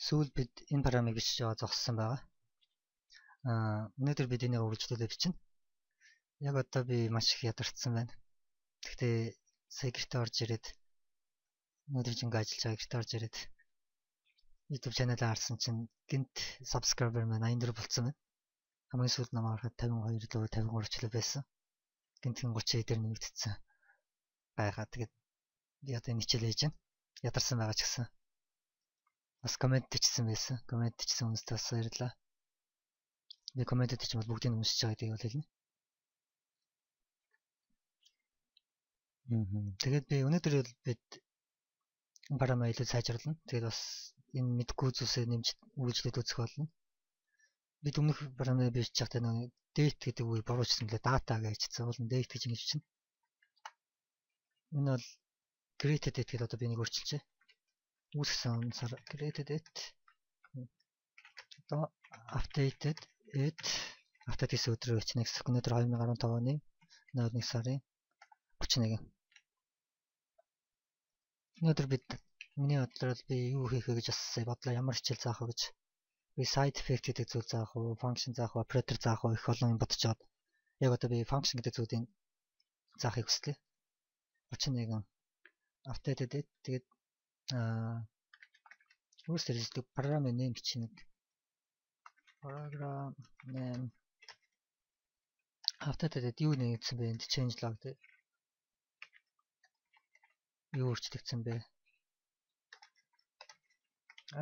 Сүүл бид энэ параметрыг бичиж байгаа зогссон байгаа. Өнөөдөр бид энийг үргэлжлүүлээ бичнэ. Яг одоо би маш их ядарсан байна. Гэхдээ сая гэртээ орж ирээд өнөөдөр жингээ ажиллаж байгаа гэртээ орж ирээд YouTube channel-аа харсан чинь гинт subscriber маань 84 болцсон байна. Хамгийн сүүлд намайг харахад 52 лөө 53 ч лөө байсан. Гинтхэн 30 дээр нэмэгдсэн. Байгаад тэгээд би одоо энэ хичээл хийж байна. Ядарсан байгаа ч гэсэн. Бас комент бичсэн байсан. Комент бичсэн хүмүүстээ бас баярлалаа. Би комментэд ч бол бүгдийг уншиж байгаа гэдгийг бол хэлнэ. Тэгээд би өнөөдөр бид энэ параметрыг илүү сайжруулна. Тэгээд бас энэ мэдгүй зүйлсээ нэмж үргэлжлээд үзэх болно. Бид өмнөх параметрыг бичиж байхдаа нэг date гэдэг үгийг буруучсан лээ data гэж хэлсэн. Бол date гэж ингэж чинь. Энэ бол created date гэдэг одоо би нэг өөрчилчээ. Үүсгэсэн сар created date. Одоо updated date. Update гэсэн өдрөө бичнэ гэсэн. Өнөөдөр 2015 оны 1 сарын 31. Өнөөдөр миний бодлоор би юу хийх вэ гэж бас бодлоо. Ямар хичээл заах вэ гэж. Би side effect гэдэг зүйл заах уу, function заах уу, operator заах уу их олон юм бодож байгаа. Яг одоо би function гэдэг зүйлийг заахыг хүслээ. 31 updated date тэгээд өөрсдөө хэлдэг program name бичнэ. Program name updated date юу нэгдсэн бэ? Энд change log гэдэг. Юу өөрчлөгдсөн бэ?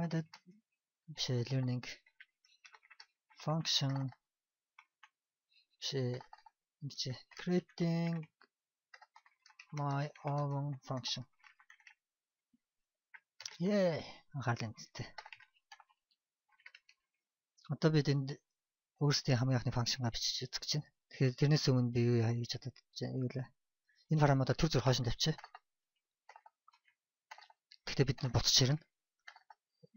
Added learning function creating my own function. Анхааралтай. Одоо бид энд өөрсдийн хамгийн анхны функшнгаа бичиж үзэх гэж байна. Тэгэхээр тэрнээс өмнө би юу хийж чадаад юу лээ. Энэ параметр төр зүр хойш нь тавьчих. Гэхдээ бид нар буцаж ирнэ.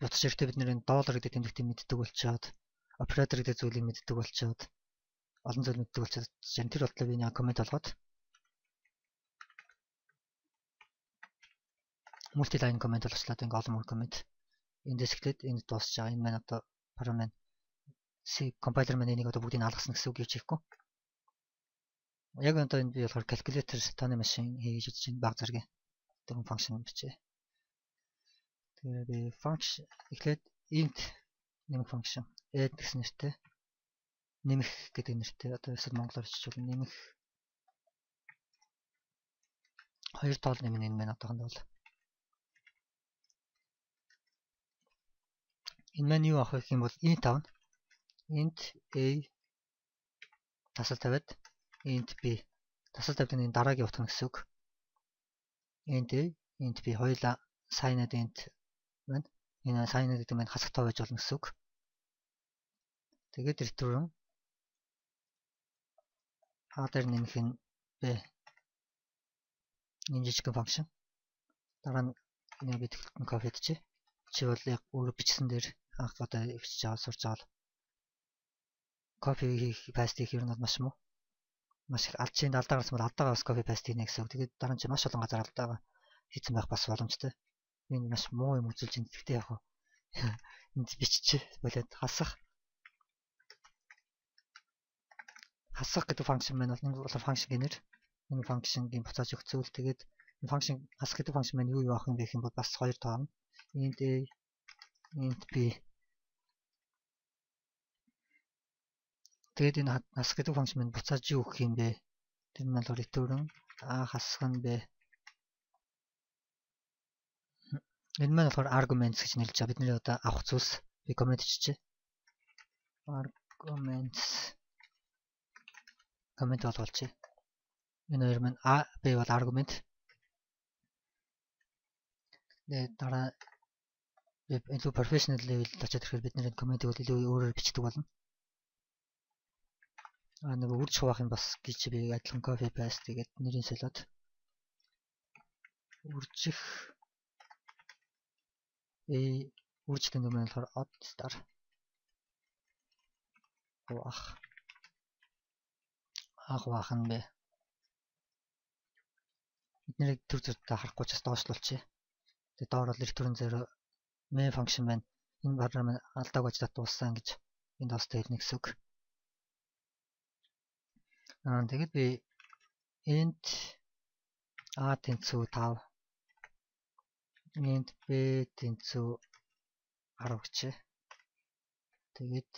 Буцаж ирэхдээ бид нэр доллар гэдэг тэмдэгтийг мэддэг болчоод, оператор гэдэг зүйлийг мэддэг болчоод, олон зүйл мэддэг болчоод тэр бодлоо би нэг коммент олгоод multi-line коммент болчихлоо. Ингээ олон мөр коммент. Эндээс эхлээд энд дуусч байгаа. Энэ маань одоо параметр C компайлер маань энийг одоо бүгдийг алгасан гэсэн үг гэж хэлэхгүй. Яг одоо энд би болохоор calculator тооны машин хийж үзэж байна. Баг зэрэг тэр функшн бичээ. Тэгээд би function эхлээд int нэмэх function add гэсэн нэртэй нэмэх гэдэг нэртэй одоо эсвэл монголоор бичвэл нэмэх хоёр тоол нэмнэ энэ маань одоохондоо бол энэ маань юу авах юм бол int авна. Int a тасал тавиад int b тасал тавьдаг энэ дараагийн утга гэсэн үг. Int a int b хоёулаа signed int байна. Энэ signed гэдэг маань хасах тоо байж болно гэсэн үг. Тэгээд return а дээр нэмэх нь b энэ жижиг function. Дараа нь энэ бид copy хийчихье. Чи бол яг өөрөө бичсэн дээр анх одоо бичиж аваад сурч аваад copy хийх paste хийх юм бол маш муу. Маш их алд чинь алдаагаас бол алдаагаас copy paste хийнэ гэсэн үг. Тэгээд дараа нь чи маш олон газар алдаагаа хийсэн байх бас боломжтой. Энэ маш муу юм үзүүлж энэ гэхдээ яг энд биччихээ болоод хасах гэдэг function маань бол нэг бол function гэнэр энэ function-гийн буцааж өгөх зүйл. Тэгээд энэ function хасах гэдэг function маань юу авах юм бэ гэх юм бол бас хоёр тоо. Int a int b. Тэгээд энэ хасах гэдэг function маань буцааж юу өгөх юм бэ? Тэр нь бол return а хасах нь b. Энэ маань болохоор arguments гэж нэрлэж байгаа. Бидний одоо авах зүйлс би коммент хийчихье. Arguments коммент болгоолчих. Энэ хоёр маань a b бол argument. Тэгээд дараа илүү professional level очоод ирэхээр бид нэр комментиг бол илүү өөрөөр бичдэг болно. Нэг үрж хуваах юм бас гэж би адилхан copy paste тэгээд нэрийн солиод үржих үржих гэдэг нь болохоор odd star хуваах нь бэ. Бид нэр төр зүртээ харахгүй ч бас доошлуулчих. Тэгээд доор бол return 0 main function байна. Энэ бараа маань алдааг ажлаа дууссан гэж энд хостой хэлнэ гэсэн үг. Тэгээд би int a тэнцүү 5 int b тэнцүү 10 гэчээ. Тэгээд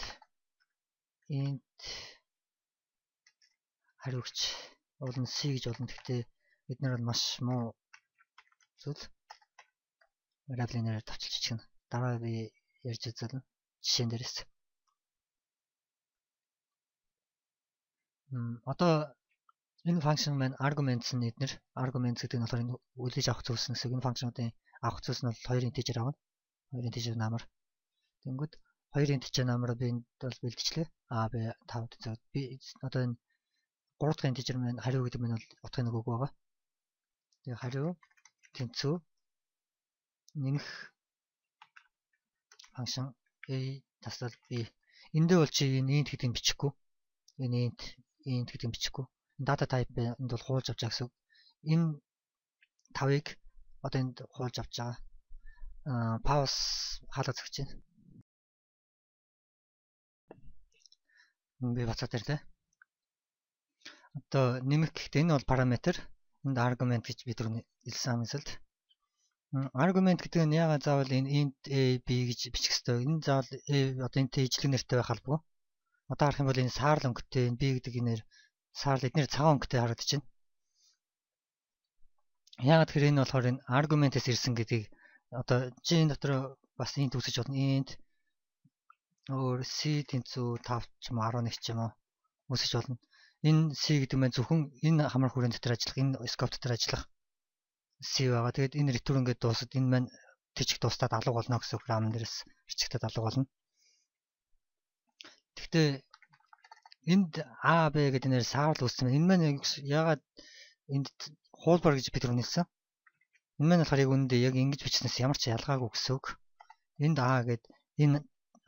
int хариугч болно c гэж болно. Гэхдээ бид нар бол маш муу зүйл variable-ээр тавчилж чинь. Дараа би ярьж үзэлнэ. Жишээн дээрээс. Одоо энэ function маань arguments нь эднэр arguments гэдэг нь болохоор энэ үлээж авах зүйлс гэсэн. Энэ function-уудын авах зүйлс нь бол 2 integer авна. 2 integer намар. Тэнгүүд 2 integer намар би энд бол бэлтжлээ. А b 5 гэдэг. Би одоо энэ 3 дахь integer маань хариу гэдэг нь бол утгын нэг үг байгаа. Тэгээ хариу тэнцүү нэмэх function a тасал b. Эндээ бол чи энэ int гэдгийг бичихгүй. Энэ int гэдгийг бичихгүй. Data type энд бол хуулж авч байгаа гэсэн. Энэ 5-ыг одоо энд хуулж авч байгаа. Pause хаалга зогч байна. Би бацаад ирлээ. Одоо нэмэх гэхдээ энэ бол параметр. Энд argument гэж бид хэлсэн амьсгалд. Argument гэдэг нь яагаад заавал энэ int a b гэж бичих ёстой. Энэ заавал одоо энэ ижлэг нэртэй байх албагүй. Одоо харах юм бол энэ саарл өнгөтэй энэ b гэдэг нэр саарл эдгээр цагаан өнгөтэй харагдчихна. Яагаад гэхээр энэ болохоор энэ argument-ээс ирсэн гэдгийг одоо g энэ дотор бас int үсэж болно. Int өөр c тэнцүү 5 ч юм уу 11 ч юм уу үсэж болно. Энэ c гэдэг нь зөвхөн энэ хамар хүрээнд дотор ажиллах, энэ scope дотор ажиллах c байгаа. Тэгээд энэ return ингээд дуусаад энэ маань тийчг дуустаад алга болно гэсэн үг RAM дээрээс арчигтад алга болно. Гэхдээ энд a b гэдэг нэр саарл үүссэн. Энэ маань яагаад энд хуулбар гэж бид үнэлсэн. Энэ маань болохоор яг үүндээ яг ингэж бичснээс ямар ч ялгаагүй гэсэн үг. Энд a гэдэг энэ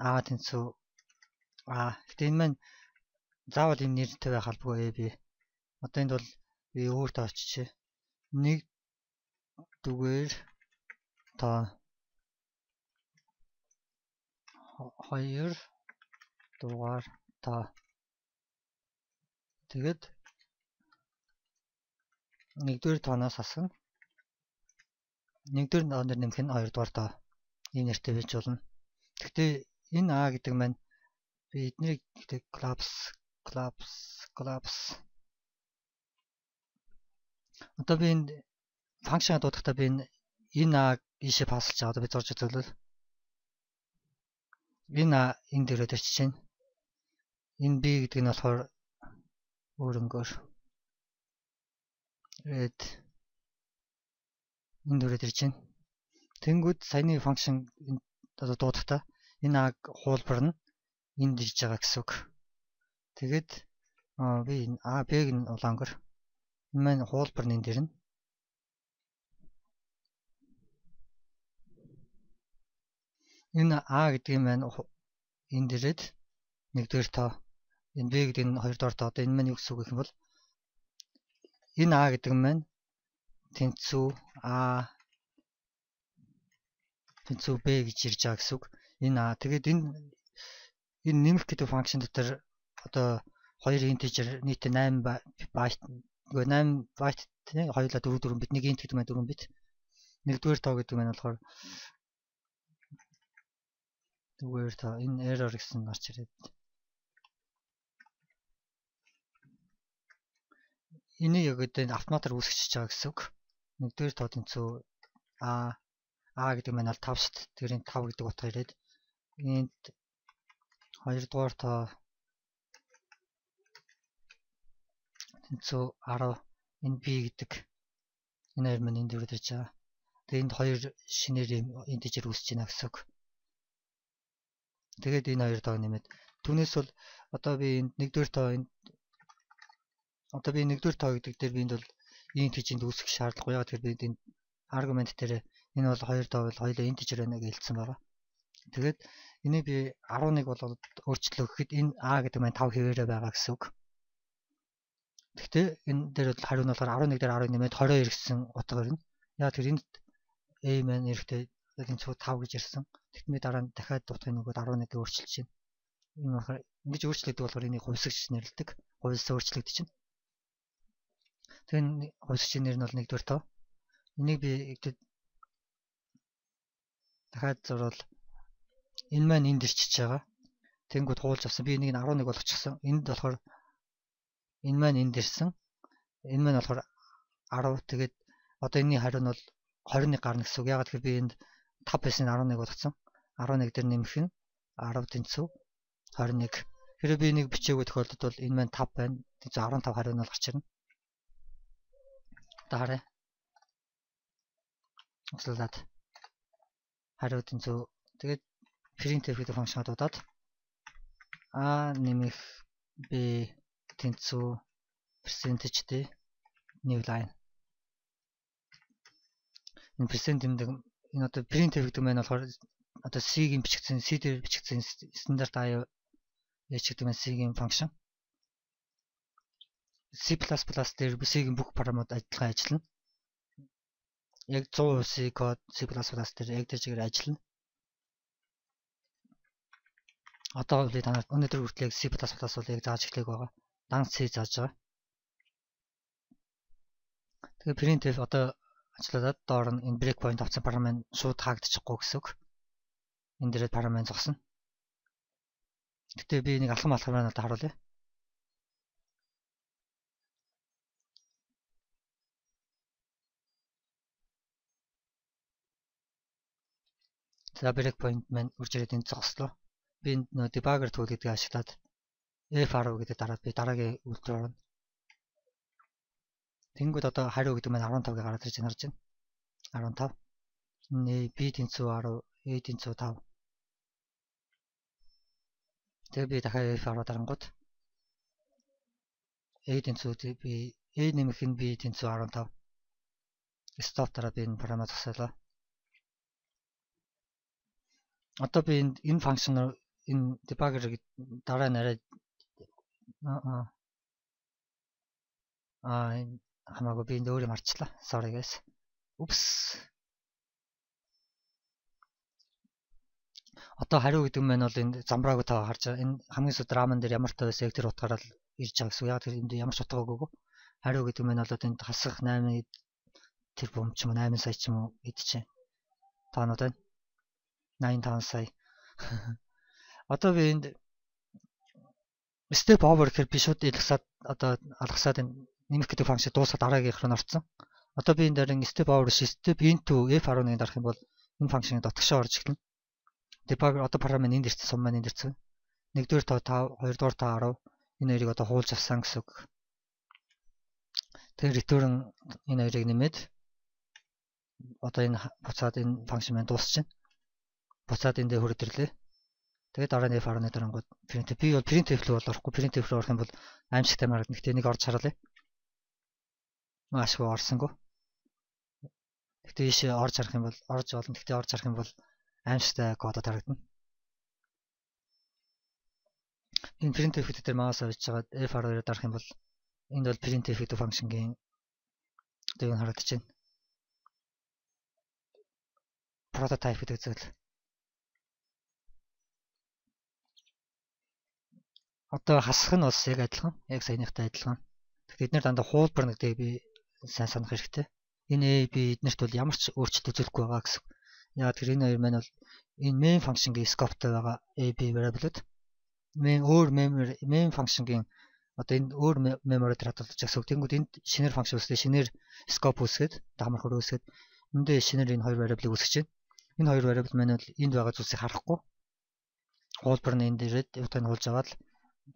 a тэнцүү a. Гэхдээ энэ маань заавал энэ нэртэй байх албагүй a b. Одоо энд бол би өөртөө очиж 1 дугаар та 2 дугаар та тэгээд 1-р тооноос асгана. 1-р тооноор нэмэх нь 2-р тоо. Ийм нэртэй байж болно. Гэхдээ энэ a гэдэг маань би эднийг collapse одоо би энэ function дуудахтаа би энэ a ийшээ паслж байгаа. Одоо би зурж үзвэл энэ a энэ дээрээ төрчих чинь. Энэ b гэдэг нь болохоор өөрөнгөөр red энэ дээрээ төрж чинь. Тэнгүүд саяны function одоо дуудахтаа энэ a хуулбар нь энд ирж байгаа гэсэн үг. Тэгээд би энэ a b-г нь улаангор энэ маань хуулбар нь энэ дэр нь энэ a гэдэг нь маань энэ дээрээд 1-р тоо энэ b гэдэг нь 2-р тоо. Одоо энэ маань юу гэсэн үг юм бол энэ a гэдэг нь маань тэнцүү a тэнцүү b гэж ирж байгаа гэсэн үг. Энэ a тэгээд энэ нэмэх гэдэг function дотор одоо 2 integer нийтээ 8 byte нөгөө 8 byte тийм хоёулаа 4 бит, нэг int гэдэг маань 4 бит. 1-р тоо гэдэг маань болохоор 1-р тоо энэ error гэсэн гарч ирээд энийг яг одоо автоматар үүсгэж байгаа гэсэн үг. 1-р тоо тэнцүү a гэдэг маань бол 5 шүү дээ. Тэр энэ 5 гэдэг утга ирээд int 2-р тоо тэнцүү 10 энэ b гэдэг энэ хоёр маань энд дөрөв ирж байгаа. Тэгээ энд хоёр шинээр integer үүсэж байна гэсэн үг. Тэгээд энэ хоёр тоог нэмээд түүнээс бол одоо би энд 1-р тоо энд одоо би 1-р тоо гэдэг дээр би энд бол int гэж энд үүсгэх шаардлагагүй. Яагаад тэгэхээр би энд argument дээр энэ бол 2 тоо бол хоёулаа integer байна гэж хэлсэн байгаа. Тэгээд энийг би 11 болоод өөрчлөлөө гэхэд энэ a гэдэг маань 5 хэвээрээ байгаа гэсэн үг. Гэхдээ энэ дээр бол хариу нь болохоор 11 дээр 10 нэмээд 22 гэсэн утга ирнэ. Яагаад тэгэхээр энд a маань эрэхтэй тэнцүү 5 гэж ирсэн. Тэгт би дараа нь дахиад дуутахын нөгөөд 11-ийг өөрчилж байна. Энэ болохоор ингэж өөрчлөгдөв болохоор энийг хувьсгч нэрлэдэг. Хувьсаа өөрчлөгдөж байна. Тэгэхээр хувьсгчийн нэр нь бол 1-р тоо. Энийг би дахиад зурвал энэ маань энд ирчихэж байгаа. Тэнгүүд хуулж авсан. Би энийг 11 болгочихсон. Энд болохоор энэ маань энд ирсэн. Энэ маань болохоор 10. Тэгээд одоо энэний хариу нь бол 21 гарна гэсэн үг. Ягаад гэвэл би энд 5 байсан 11 болгоцсон. 11 дээр нэмэх нь 10 тэнцүү 21. Тэгэхээр би энийг бичээгүй тохиолдолд бол энэ маань 5 байна. Тэнцүү 15 хариу нь бол гарч ирнэ. Одоо харъя. Услаад хариу тэнцүү. Тэгээд printf гэдэг функшн дуудаад a нэмэх b тэнцүү percentage d new line. Энэ percent гэдэг энэ одоо printf гэдэг маань болохоор одоо c-ийн бичигдсэн c дээр бичигдсэн стандарт аюу h гэдэг маань c-ийн функшн. C++ дээр c-ийн бүх параметрууд адилхан ажиллана. Яг 100% C код C++ дээр яг тэр чигээр ажиллана. Одоо би танаар өнөөдөр хүртэл C++ бол яг зааж эхлэх байгаа. Дан C зааж байгаа. Тэгээ printf одоо ажиллаад доор нь энэ breakpoint авсан параметр шууд хаагдчихгүй гэсэн үг. Энэ дээрээ параметр зогсно. Гэтэ би нэг алхам надад харуулъя. За breakpoint маань үрж ирээд энд зогслоо. Би энэ debugger tool гэдгийг ашиглаад F10 гэдэг дараад би дараагийн үйлдэл орно. Тэнгүүд одоо хариу гэдэг маань 15-ыг гараад ирж харж байна. 15. Нэ B тэнцүү 10, A тэнцүү 5. Тэгээ би дахиад F10 дарангууд A тэнцүү би A нэмэх нь B тэнцүү 15. Stop дараа би энэ параметр засаалаа. Одоо би энэ функшн энэ debugger дараа нараад хамаагүй би энэ өөрөө марчлаа. Sorry guys. Oops. Одоо хариу гэдэг нь бол энэ замбрааг таа харж байгаа. Энэ хамгийн сүүлд раман дээр ямар таа байсан тэр утгаараа л ирж байгаа гэсэн. Яг тэр энд ямар ч утгаагүй. Хариу гэдэг нь бол энд хасах 8 тэр бом ч юм уу 8 сая ч юм уу идчихэ. Таанууд байна. 85 сая. Одоо би энд step over гэхээр би шууд илгсаад одоо алгасаад нэмэх гэдэг функшн дуусаад дараагийнх руу орсон. Одоо би энэ дээр step over step into F11 дарах юм бол энэ функшны дотгошоо орж эхэлнэ. Debugger одоо параметр энд ирсэн, сум маань энд ирсэн. 1-р тоо 5, 2-р тоо 10. Энэ хоёрыг одоо хуулж авсан гэсэн үг. Тэгэхээр return энэ хоёрыг нэмээд одоо энэ буцаад энэ функшн маань дуусчихна. Буцаад эндээ хөрөд ирлээ. Тэгээд дараа нь F11 дарангууд printf би бол printf рүү орохгүй printf рүү орох юм бол аимшигтай маргад нэгт энийг орж харуулъя. Маашгүй орсонгүй. Гэтэ ийшээ орж харах юм бол орж болно. Гэтэ орж харах юм бол аимшигтай кодод харагдана. Энэ printf дээр маус авч жагаад F12-оор дарах юм бол энд бол printf гэдэг функшнгийн одоо юу харагдаж байна. Prototype гэдэг зүйл. Одоо хасах нь бас яг адилхан, яг саяныхтай адилхан. Тэгэхээр эдгээр дандаа хуулбар нэгдэг би сайн санах хэрэгтэй. Энэ A, B эднэрт бол ямар ч өөрчлөлт үзүүлэхгүй байгаа гэсэн. Яг тэр энэ хоёр маань бол энэ main function-гийн scope-тай байгаа A, B variable-ууд main function-гийн одоо энэ өөр memory дээр хадгалж байгаа. Тэнгүүд энд шинээр function үүсгээ, шинээр scope үүсгээд, дагмар хөр үүсгээд эндээ шинээр энэ хоёр variable-ыг үүсгэж байна. Энэ хоёр variable маань бол энд байгаа зүйлсийг харахгүй. Хуулбар нь энд ирээд утгыг хуулж аваад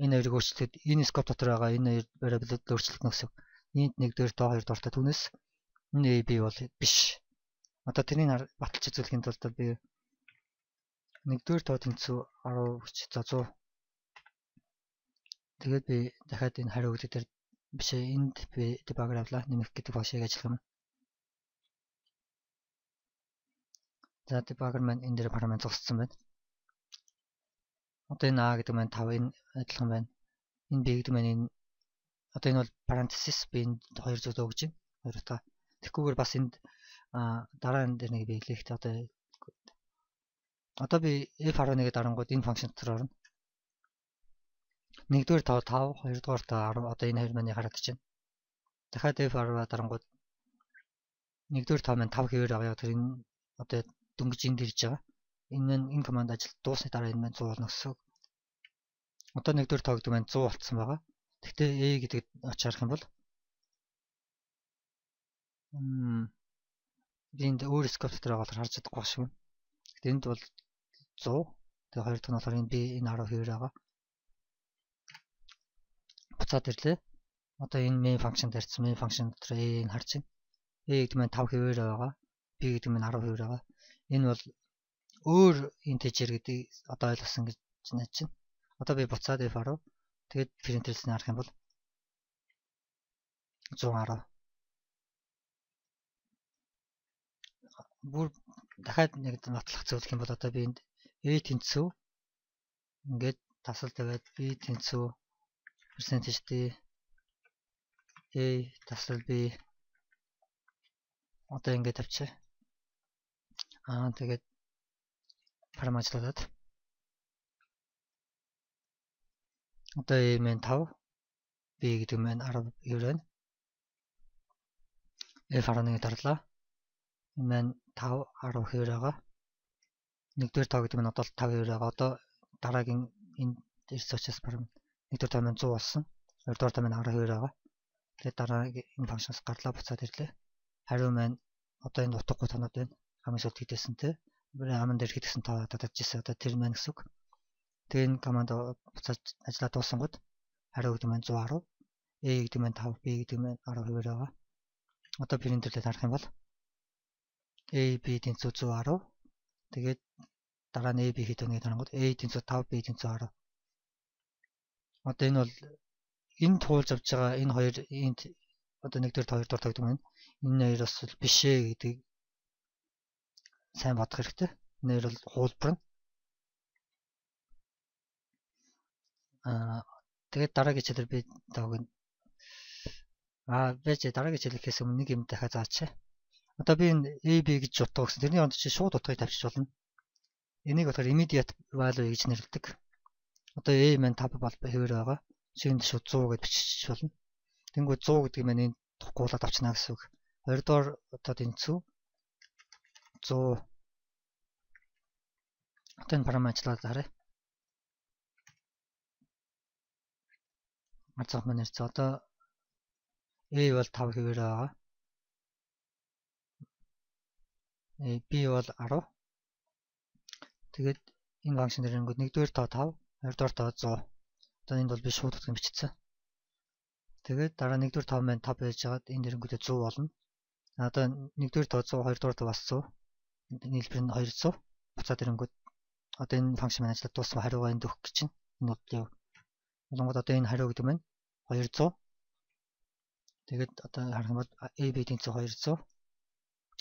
энэ хоёрыг өөрчлөлтөд энэ scope дотор байгаа энэ хоёр variable-д өөрчлөлт нөхсөв. Энд 1-р тоо 2-р тоо түүнээс энэ A, B бол биш. Одоо тэрийг баталж үзүүлэхийн тулд би 1-р тоо тэнцүү 10 хүч за 100. Тэгээд би дахиад энэ хариу гэдэг дээр биш энд би debugger авлаа нэмэх гэдэг функцийг ажиллах юм. За debugger маань энэ дээр параметр зогссон байна. Одоо энэ A гэдэг маань 5 энэ адилхан байна. Энэ B гэдэг маань энэ одоо энэ бол parenthesis би энд 2 зүйл өгж байна. 2 та. Тэгэхгүйгээр бас энд дараа энэ дээр нэг биелэхтэй одоо Одоо би f11-ийг дарангууд энэ функшн дотор орно. 1-р 5, 2-р 10 одоо энэ хоёр маань харагдаж байна. Дахиад f10 дарангууд 1-р 5 маань 5 хэвээр байгаа. Тэр энэ одоо дөнгөж энд ирж байгаа. Энэ команд ажил дуусны дараа энэ маань 100 болно гэсэн үг. Одоо 1-р 5 гэдэг маань 100 болцсон байгаа. Гэхдээ a гэдэг очиж харах юм бол би энд өөр скоп дотор байгаа болохоор харж чадахгүй байх шиг байна. Гэхдээ энд бол 100. Тэгээ хоёр дахь нь болохоор энэ b энэ 10 хэвээр байгаа. Буцаад ирлээ. Одоо энэ main function дээрсэн main function дотор a-ийг харж байна. a гэдэг маань 5 хэвээр байгаа. b гэдэг маань 10 хэвээр байгаа. Энэ бол өөр integer гэдгийг одоо ойлгосон гэж найдаж байна. Одоо би буцаад f10. Тэгээд println харах юм бол 110. Бүр дахиад нэг нотлох зөвлөх юм бол одоо би энд a тэнцүү ингээд тасал тавиад b тэнцүү percentage d a тасал b одоо ингээд тавьчих. Тэгээд параметрлаад одоо a маань 5 b гэдэг маань 10 хэвээр байна. f11-ийг дарлаа. Энэ маань 5 10 хэвээр байгаа. 1-р 5 гэдэг маань одоо 5 хэвээр байгаа. Одоо дараагийн энэ ирсэн учраас баруун 1-р 5 маань 100 болсон. 2-р 5 маань 10 хэвээр байгаа. Тэгээд дараагийн энэ функшнаас гарлаа буцаад ирлээ. Хариу маань одоо энэ утгагүй тоноод байна. Хамгийн сүүлд хийдсэн те. Аман дээр хийдсэн тоо татчихсан. Одоо тэр маань гэсэн үг. Тэгээд энэ команд буцаад ажиллаа дуусангууд хариу гэдэг маань 110. A гэдэг маань 5, B гэдэг маань 10 хэвээр байгаа. Одоо println харах юм бол A, B тэнцүү 110. Тэгээд дараа нь A, B хийх үнийг харангууд A тэнцүү 5, B тэнцүү 10. Одоо энэ бол энэ туулж авч байгаа энэ хоёр энд одоо 1-р 2-р тавьдаг маань энэ хоёроос биш ээ гэдгийг сайн бодох хэрэгтэй. Энэ хоёр бол хуулбар нь. Тэгээд дараагийн хичээлээр би таагүй байж дараагийн хичээлээс өмнө нэг юм дахиад заачаа. Одоо би энэ AB гэж утга өгсөн. Тэрний онд чи шууд утгыг тавьчих болно. Энийг болохоор immediate value гэж нэрлэдэг. Одоо A маань 5 бол хэвээр байгаа. Шинэ шууд 100 гэж бичих болно. Тэнгүү 100 гэдэг маань энэ тухгуулаад авчна гэсэн үг. Хоёрдугаар одоо тэнцүү 100. Одоо энэ параметрлаад харъя. Арцах маань ирсэн. Одоо A бол 5 хэвээр байгаа. B бол 10. Тэгээд энэ функшн дээр ингүүд 1-р тоо 5, 2-р тоо 100. Одоо энд бол би шууд утгыг бичсэн. Тэгээд дараа 1-р тоо маань 5 байж байгаад энэ дээр ингүүд 100 болно. Одоо 1-р тоо 100, 2-р тоо бас 100. Нийлбэр нь 200. Буцаад ирэнгүүд одоо энэ функшн маань ажиллаад дууссан хариугаа энд өгөх гэж байна. Энэ бол яв. Болгоод одоо энэ хариу гэдэг маань 200. Тэгээд одоо харах юм бол A, B тэнцүү 200.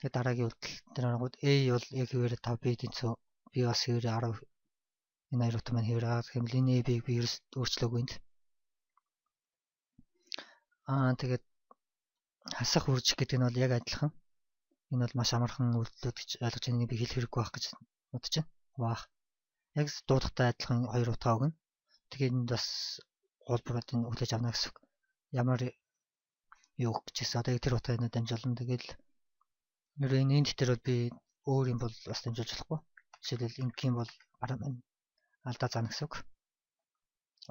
Тэгээд дараагийн үйлдэл дээр харангууд A бол яг хэвээр 5, B тэнцүү B бас хэвээр 10. Энэ хоёрт маань хэвээр байгаа. Тэгвэл энэ A, B-г би өөрчлөөгүй энд. Тэгээд хасах үржих гэдэг нь бол яг адилхан. Энэ бол маш амархан үйлдэлүүд гэж ойлгож байгааг би хэлэх хэрэггүй байх гэж бодож байна. Ваах. Яг дуудахтай адилхан хоёр утгаа өгнө. Тэгээд энд бас хуулбарууд нь хүлээж авна гэсэн үг. Ямар юу гэжсэн. Одоо тэр утгыг дамжуулна. Тэгэл нэр энэ дээр бол би өөр юм бол бас дамжуулж болохгүй. Жишээлбэл ингийн бол бараа маань алдаа заана гэсэн үг.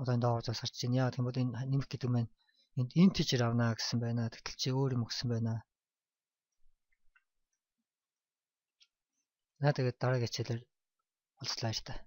Одоо энэ доогоор зас харж байна. Яа гэвэл энэ нэмэх гэдэг маань энд integer авна гэсэн байна. Тэгтэл чи өөр юм өгсөн байна. Тэгээд дараагийн хичээлээр уулзлаа шүү дээ.